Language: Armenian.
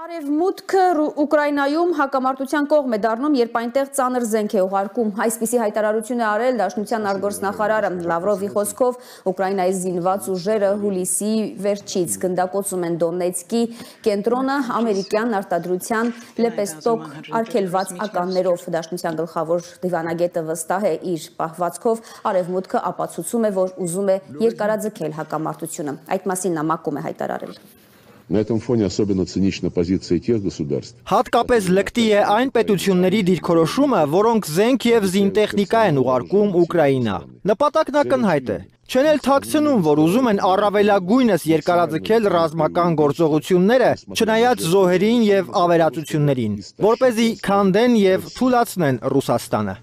Արևմուտքը Ուկրաինայում հակամարտության կողմ է դառնում, երբ այնտեղ ծանր զենք է ուղարկում։ Այսպիսի հայտարարություն է արել Դաշնության արտգործնախարարը։ Լավրովի խոսքով Ուկրաինայի զինված ուժերը հուլիսի վերջից գնդակոծում են Դոնեցկի կենտրոնը ամերիկյան արտադրության լեպեստոկ արգելված ականներով։ Դաշնության գլխավոր դիվանագետը վստահ է իր պահվածքով, Արևմուտքը ապացուցում է, որ ուզում է երկարաձգել հակամարտությունը։ Այդ մասին նա մակում է հայտարարել։ На этом фоне особенно цинична позиция тех государств. Հատկապես լկտի է այն պետությունների դիրքորոշումը, որոնք զենք եւ զինտեխնիկա են ուղարկում Ուկրաինա։ Նպատակն ակնհայտ է։ Չեն էլ թաքցնում, որ ուզում են առավելագույնս երկարաձգել ռազմական գործողությունները, չնայած զոհերին եւ ավերածություններին, որպեսզի քանդեն եւ թուլացնեն Ռուսաստանը։